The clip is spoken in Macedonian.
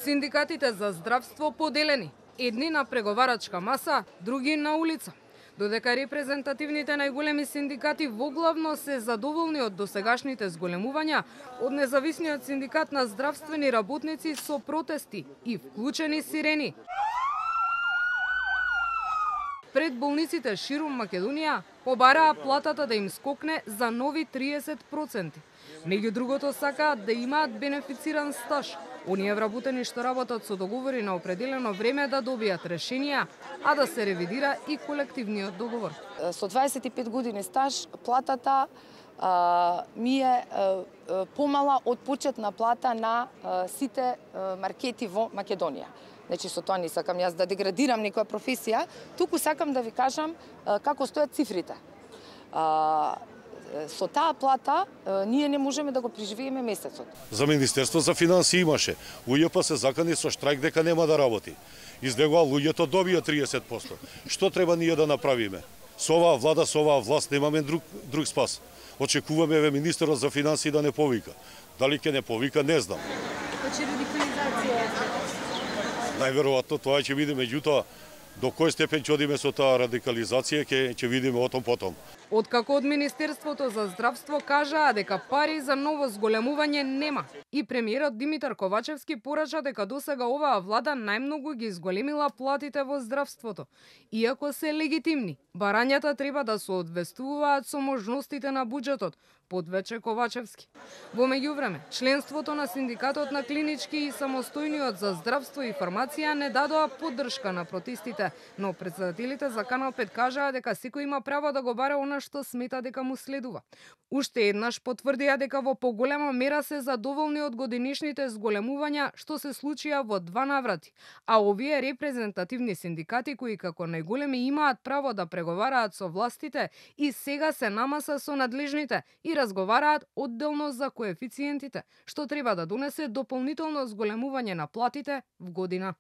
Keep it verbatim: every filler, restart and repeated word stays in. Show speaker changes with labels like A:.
A: Синдикатите за здравство поделени. Едни на преговарачка маса, други на улица. Додека репрезентативните најголеми синдикати воглавно се задоволни од досегашните зголемувања, од независниот синдикат на здравствени работници со протести и вклучени сирени. Пред болниците ширум Македонија побараа платата да им скокне за нови триесет проценти. Меѓу другото сакаат да имаат бенефициран стаж. Оние вработени што работат со договори на определено време да добијат решенија, а да се ревидира и колективниот договор.
B: Со дваесет и пет години стаж платата а, ми е а, помала од почетна плата на а, сите а, маркети во Македонија. Значи, со тоа не сакам јас да деградирам некоја професија, туку сакам да ви кажам а, како стојат цифрите. А, со таа плата ние не можеме да го преживееме месецот.
C: За Министерство за финансии имаше. У Ј П се закани со штрајк дека нема да работи. Излегува луѓето добија триесет проценти. Што треба ние да направиме? Со оваа влада, со оваа власт немаме друг друг спас. Очекуваме еве министерот за финансии да не повика. Дали ќе не повика, не знам.
A: Значи радикализација.
C: Најверојатно тоа ќе видиме, меѓутоа до кој степен ќе одиме со таа радикализација ќе ќе видиме отом потом.
A: Откако од Министерството за здравство кажаа дека пари за ново зголемување нема. И премиерот Димитар Ковачевски порача дека досега оваа влада најмногу ги зголемила платите во здравството. Иако се легитимни, барањата треба да се одвестуваат со можностите на буџетот, подвече Ковачевски. Во меѓувреме, членството на синдикатот на клинички и самостојниот за здравство и фармација не дадоа поддршка на протестите, но претседателите за Канал пет кажаа дека секој има право да го бара она што смета дека му следува. Уште еднаш потврдија дека во поголема мера се задоволни од годинишните зголемувања што се случија во два наврати, а овие репрезентативни синдикати кои како најголеми имаат право да преговараат со властите и сега се намаса со надлежните и разговараат одделно за коефициентите, што треба да донесе дополнително зголемување на платите в година.